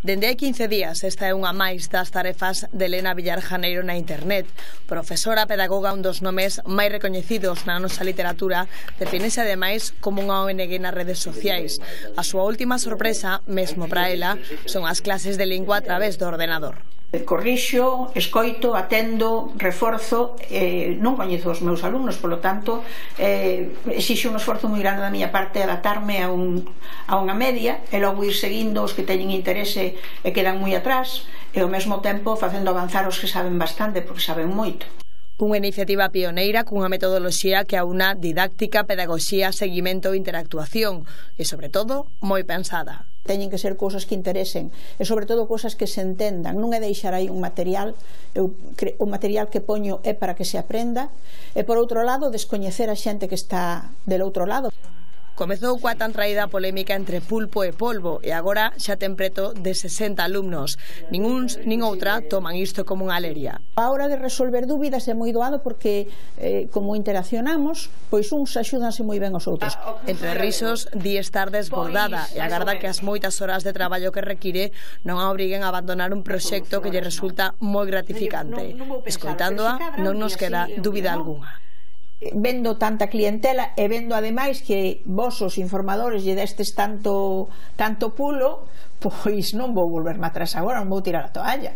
Dende hai 15 días, esta é unha máis das tarefas de Elena Villar Janeiro na internet. Profesora, pedagoga, un dos nomes máis recoñecidos na nosa literatura, defínese ademais como unha ONG nas redes sociais. A súa última sorpresa, mesmo para ela, son as clases de lingua a través do ordenador. Corrixo, escoito, atendo, reforzo, non coñezo os meus alumnos, polo tanto exixe un esforzo moi grande da miña parte adaptarme a unha media e logo ir seguindo os que teñen interese e quedan moi atrás e ao mesmo tempo facendo avanzar os que saben bastante porque saben moito. Unha iniciativa pioneira cunha metodoloxía que aúna didáctica, pedagogía, seguimento e interactuación e, sobre todo, moi pensada. Teñen que ser cousas que interesen e, sobre todo, cousas que se entendan. Non é deixar aí un material, o material que poño é para que se aprenda e, por outro lado, descoñecer a xente que está del outro lado. Comezou coa tan traída polémica entre pulpo e polvo e agora xa ten preto de 60 alumnos. Nin uns nin outra toman isto como unha leria. A hora de resolver dúbidas é moi doado porque como interaccionamos, pois uns axúdanse moi ben os outros. Entre risos, di estar desbordada e agarda que as moitas horas de traballo que require non a obriguen a abandonar un proxecto que lle resulta moi gratificante. Escoitándoa, non nos queda dúbida algunha. Vendo tanta clientela e vendo ademais que vos os informadores lle destes tanto pulo, pois non vou volverme atrás agora, non vou tirar a toalla.